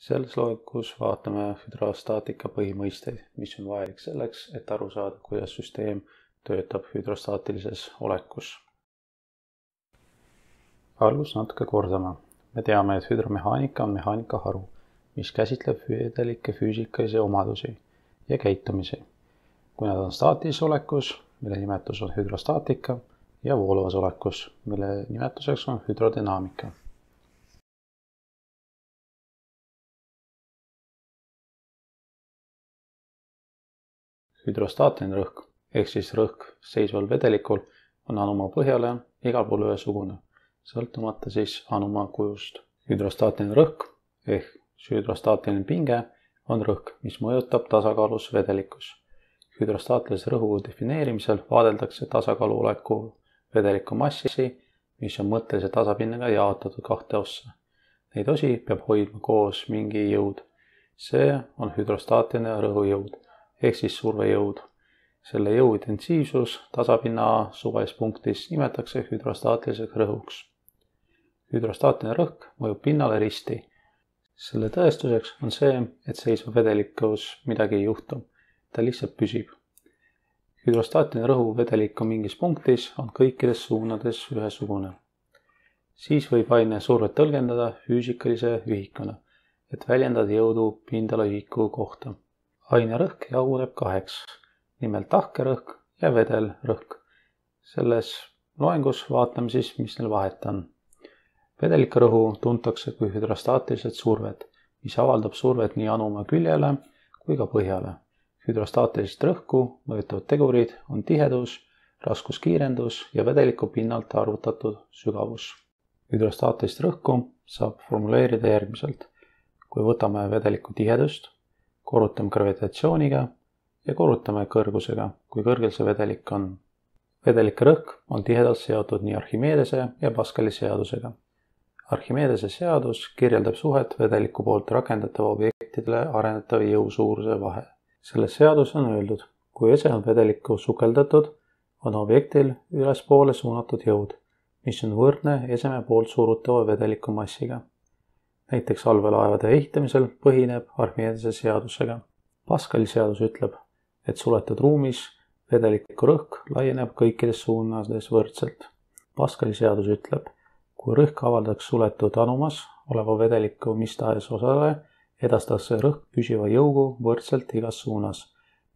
Selles loogikus vaatame hüdrostaatika põhimõisteid, mis on vajalik selleks, et aru saada, kuidas süsteem töötab hüdrostaatilises olekus. Algus natuke kordama. Me teame, et hüdromehaanika on mehaanika haru, mis käsitleb vedelike füüsikalisi omadusi ja käitumisi, kui nad on staatilises olekus, mille nimetus on hüdrostaatika, ja vooluvas olekus, mille nimetuseks on hüdrodünaamika. Hüdrostaatiline rõhk ehk siis rõhk seisval vedelikul on anumaa põhjale igal pool ühesugune, sõltumata siis anumaa kujust. Hüdrostaatiline rõhk ehk hüdrostaatiline pinge on rõhk, mis mõjutab tasakaalus vedelikus. Hüdrostaatilise rõhu defineerimisel vaadeldakse tasakaalu oleku vedeliku massi, mis on mõttelise tasapinnaga jaotatud kahte ossa. Neid osi peab hoidma koos mingi jõud. See on hüdrostaatiline rõhujõud ehk siis survejõud. Selle jõu intensiivsus tasapinna suvalises punktis nimetatakse hüdrostaatiliseks rõhuks. Hüdrostaatiline rõhk mõjub pinnale risti. Selle tõestuseks on see, et seisva vedelikus midagi ei juhtu. Ta lihtsalt püsib. Hüdrostaatiline rõhu vedelik on mingis punktis on kõikides suunades ühesugune. Siis võib aine survet tõlgendada füüsikalise ühikuna, et väljendada jõudu pindala ühiku kohta. Aine rõhk jaguneb kaheks, nimelt tahkerõhk ja vedelrõhk. Selles loengus vaatame siis, mis neil vahet on. Vedelike rõhu tuntakse kui hüdrostaatiliselt survet, mis avaldab survet nii anumaa küljele kui ka põhjale. Hüdrostaatilist rõhku mõjutavad tegurid on tihedus, raskuskiirendus ja vedeliku pinnalt arvutatud sügavus. Hüdrostaatilist rõhku saab formuleerida järgmiselt. Kui võtame vedeliku tihedust, korrutame gravitatsiooniga ja korrutame kõrgusega, kui kõrgel see vedelik on. Vedelike rõhk on tihedalt seotud nii Archimedese ja Pascali seadusega. Archimedese seadus kirjeldab suhet vedeliku poolt rakendatava objektidele arendatava jõu suuruse vahe. Selles seadus on öeldud, kui ese on vedelikku sukeldatud, on objektil ülespoole suunatud jõud, mis on võrdne eseme poolt surutava vedeliku massiga. Näiteks allveelaevade ehitamisel põhineb Archimedese seadusega. Pascali seadus ütleb, et suletud ruumis vedeliku rõhk laieneb kõikides suunades võrdselt. Pascali seadus ütleb, kui rõhk avaldaks suletud anumas oleva vedeliku mis tahes osale, edastatakse rõhk püsiva jõugu võrdselt igas suunas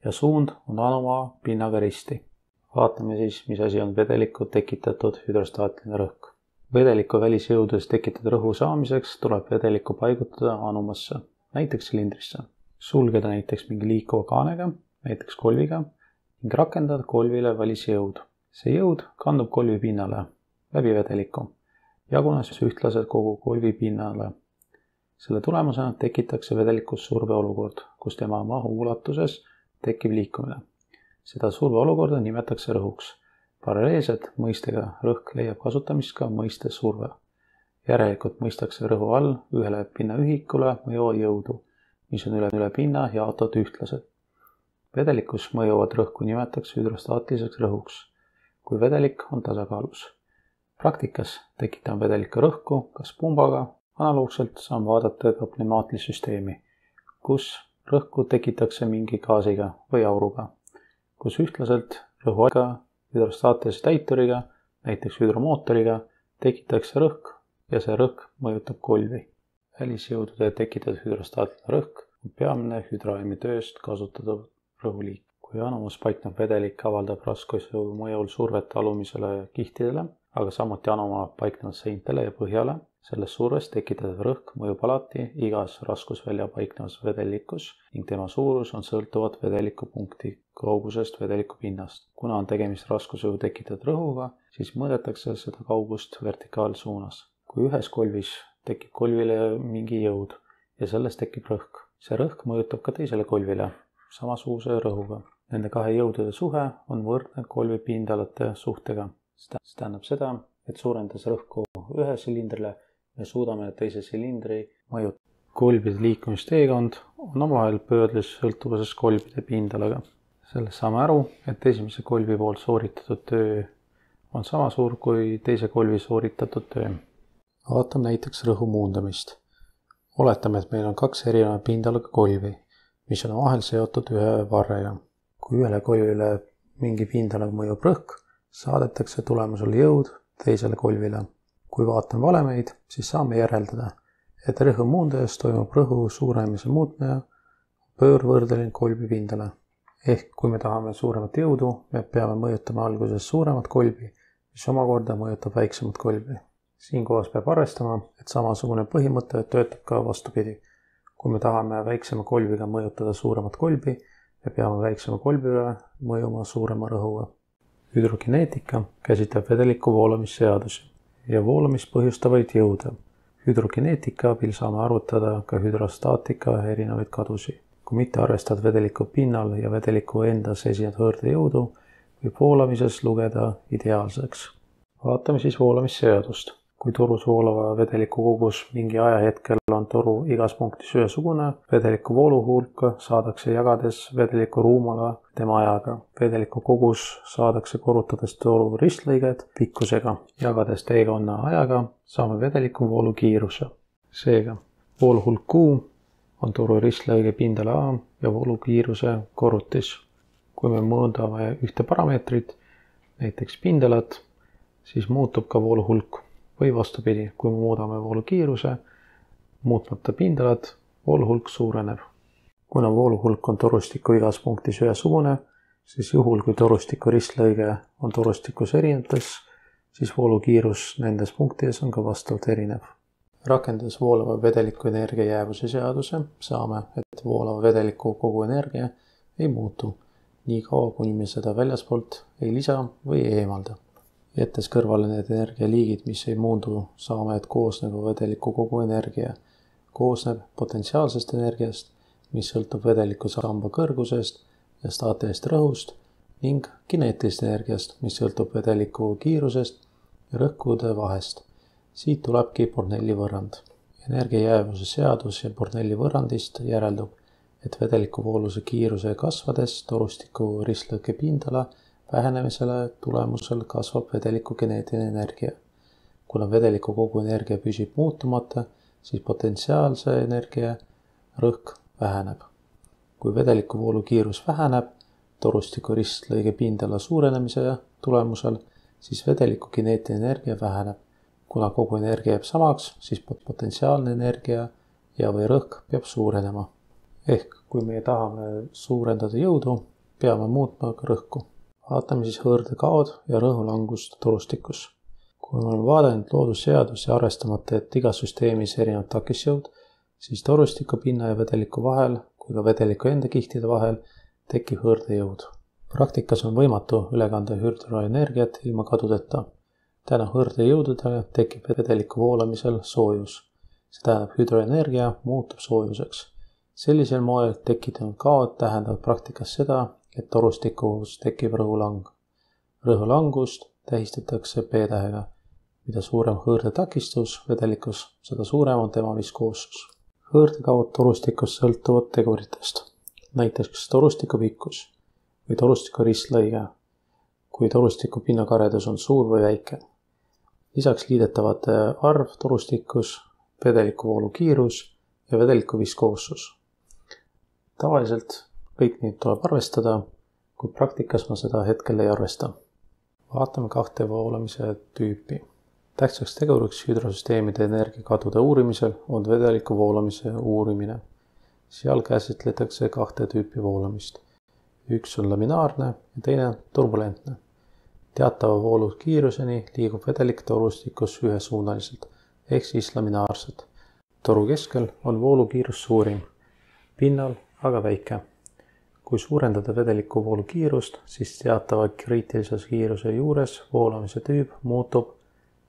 ja suund on anumaa pinnaga risti. Vaatame siis, mis asi on vedeliku tekitatud hüdrostaatiline rõhk. Vedeliku välisjõududes tekitatud rõhu saamiseks tuleb vedelikku paigutada anumasse, näiteks silindrisse. Sulgeda näiteks mingi liikuva kaanega, näiteks kolviga, ning rakendada kolvile välisjõud. See jõud kandub kolvi pinnale, läbi vedeliku, jagunes ühtlaselt kogu kolvi pinnale. Selle tulemusena tekitakse vedelikus surveolukord, kus tema mahu ulatuses tekib liikumine. Seda surveolukorda nimetatakse rõhuks. Paralleelselt mõistega rõhk leiab kasutamist ka mõiste surve. Järelikult mõistakse rõhu all ühele pinnaühikule mõjuva jõudu, mis on üle pinna jaotatud ühtlaselt. Vedelikus mõjuvat rõhku nimetatakse hüdrostaatiliseks rõhuks, kui vedelik on tasakaalus. Praktikas tekitame vedeliku rõhku kas pumbaga, analoogselt saame vaadata ka pneumaatilist süsteemi, kus rõhku tekitakse mingi gaasiga või auruga, kus ühtlaselt rõhuaega hüdrostaatilise täituriga, näiteks hüdromootoriga, tekitatakse rõhk ja see rõhk mõjutab kolvi. Välisjõudude tekitatud hüdrostaatiline rõhk on peamine hüdroaimi tööst kasutatav rõhuliik. Kui anumas paiknev vedelik avaldab raskusjõu mõjul survet alumisele kihtidele, aga samuti anumaa paiknevad seintele ja põhjale, selles survest tekitatud rõhk mõjub alati igas raskusvälja paiknevas vedelikus ning tema suurus on sõltuvat vedeliku punkti kaugusest vedeliku pinnast. Kuna on tegemist raskusjõu tekitatud rõhuga, siis mõõdetakse seda kaugust vertikaalsuunas. Kui ühes kolvis tekib kolvile mingi jõud ja sellest tekib rõhk, see rõhk mõjutab ka teisele kolvile samasuguse rõhuga. Nende kahe jõudude suhe on võrdne kolvi pindalate suhtega. See tähendab seda, et suurendades rõhku ühe silindrile, me suudame teise silindri mõjutada. Kolbide liikumisteekond on omavahel pöördes sõltuvuses kolbide pindalaga. Sellest saame aru, et esimese kolvi poolt sooritatud töö on sama suur kui teise kolvi sooritatud töö. Vaatame näiteks rõhu muundamist. Oletame, et meil on 2 erineva pindalaga kolvi, mis on vahel seotud ühe varrega. Kui ühele kolvile mingi pindalaga mõjub rõhk, saadetakse tulemusel jõud teisele kolvile. Kui vaatame valemeid, siis saame järeldada, et rõhu muundajas toimub rõhu suurenemise muutmine pöörvõrdeline kolvi pindale. Ehk kui me tahame suuremat jõudu, me peame mõjutama alguses suuremat kolvi, mis omakorda mõjutab väiksemat kolvi. Siinkohas peab arvestama, et samasugune põhimõte töötab ka vastupidi. Kui me tahame väiksema kolviga mõjutada suuremat kolvi, me peame väiksema kolvile mõjuma suurema rõhuga. Hüdrokineetika käsitleb vedeliku voolamisseadusi ja voolamist põhjustavaid jõude. Hüdrokineetika abil saame arvutada ka hüdrostaatika erinevaid kadusi. Kui mitte arvestada vedeliku pinnal ja vedeliku endas esinevat hõõrdejõudu, võib voolamises lugeda ideaalseks. Vaatame siis voolamisseadust. Kui torus voolava vedeliku kogus mingi ajahetkel on toru igas punktis ühesugune, vedeliku vooluhulka saadakse jagades vedeliku ruumala tema ajaga. Vedeliku kogus saadakse korrutades toru ristlõiget pikkusega. Jagades teekonna ajaga saame vedeliku voolu kiiruse. Seega, vooluhulk Q on toru ristlõige pindala A ja voolu kiiruse korrutis. Kui me mõõdame ühte parameetrit, näiteks pindalat, siis muutub ka vooluhulk. Või vastupidi, kui me muudame voolu kiiruse, muutmata pindalat, vooluhulk suureneb. Kuna vooluhulk on torustiku igas punktis ühesugune, siis juhul, kui torustiku ristlõige on torustikus erinevates, siis voolu kiirus nendes punktides on ka vastavalt erinev. Rakendades voolava vedeliku energia jäävuse seaduse, saame, et voolava vedeliku kogu energia ei muutu, nii kaua kuni me seda väljaspoolt ei lisa või ei eemalda. Jättes kõrvale need energialiigid, mis ei muundu, saame, et koosneva vedeliku kogu energia koosneb potentsiaalsest energiast, mis sõltub vedeliku samba kõrgusest ja staatilisest rõhust ning kineetilisest energiast, mis sõltub vedeliku kiirusest ja rõhkude vahest. Siit tulebki Bornelli võrrand. Energia jäävuse seadus ja Bornelli võrrandist järeldub, et vedeliku vooluse kiiruse kasvades torustiku ristlõike pindala vähenemisele tulemusel kasvab vedeliku kineetiline energia. Kuna vedeliku kogu energia püsib muutumata, siis potentsiaalse energia rõhk väheneb. Kui vedeliku voolu kiirus väheneb torustiku ristlõige pindala suurenemise tulemusel, siis vedeliku kineetiline energia väheneb. Kuna kogu energia jääb samaks, siis potentsiaalne energia ja või rõhk peab suurenema. Ehk kui me tahame suurendada jõudu, peame muutma ka rõhku. Vaatame siis hõõrdekaod ja rõhulangust torustikus. Kui me oleme vaadanud loodusseadus ja arvestamata, et igas süsteemis erinevad takisjõud, siis torustiku pinna ja vedeliku vahel kui ka vedeliku enda kihtide vahel tekib hõõrdejõud. Praktikas on võimatu üle kanda hüdroenergiat ilma kadudeta. Tänu hõõrdejõududele tekib vedeliku voolamisel soojus. See tähendab, hüdroenergia muutub soojuseks. Sellisel moel tekitanud kaod tähendavad praktikas seda, et torustikus tekib rõhulang. Rõhulangust tähistatakse P-tähega. Mida suurem hõõrdetakistus vedelikus, seda suurem on tema viskoossus. Hõõrdekaod torustikus sõltuvad teguritest. Näiteks torustiku pikkus või torustiku ristlõige, kui torustiku pinnakaredus on suur või väike. Lisaks liidetavate arv torustikus, vedeliku voolu kiirus ja vedeliku viskoossus. Tavaliselt kõik neid tuleb arvestada, kui praktikas ma seda hetkel ei arvesta. Vaatame 2 voolamise tüüpi. Tähtsaks teguriks hüdrosüsteemide energiakadude uurimisel on vedeliku voolamise uurimine. Seal käsitletakse 2 tüüpi voolamist. Üks on laminaarne ja teine turbulentne. Teatava voolu kiiruseni liigub vedelik torustikus ühesuunaliselt, ehk siis laminaarselt. Toru keskel on voolu kiirus suurim, pinnal aga väike. Kui suurendada vedeliku voolu kiirust, siis teatava kriitilises kiiruse juures voolamise tüüp muutub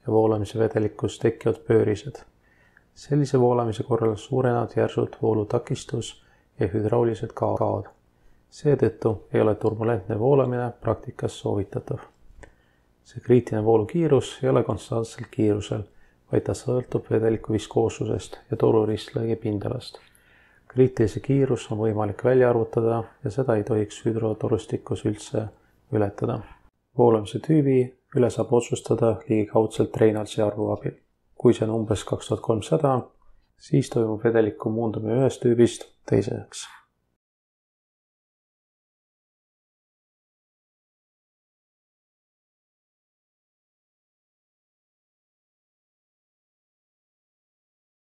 ja voolamise vedelikus tekivad pöörised. Sellise voolamise korral suurenevad järsult voolutakistus ja hüdraulilised kaod. Seetõttu ei ole turbulentne voolamine praktikas soovitatav. See kriitiline voolu kiirus ei ole konstantselt kiirusel, vaid ta sõltub vedeliku viskoossusest ja toru ristlõige pindalast. Kriitilise kiirus on võimalik välja arvutada ja seda ei tohiks hüdrotorustikus üldse ületada. Voolamise tüübi üle saab otsustada ligikaudselt Reynolds'i arvu abil. Kui see on umbes 2300, siis toimub vedeliku muundumine ühest tüübist teiseks.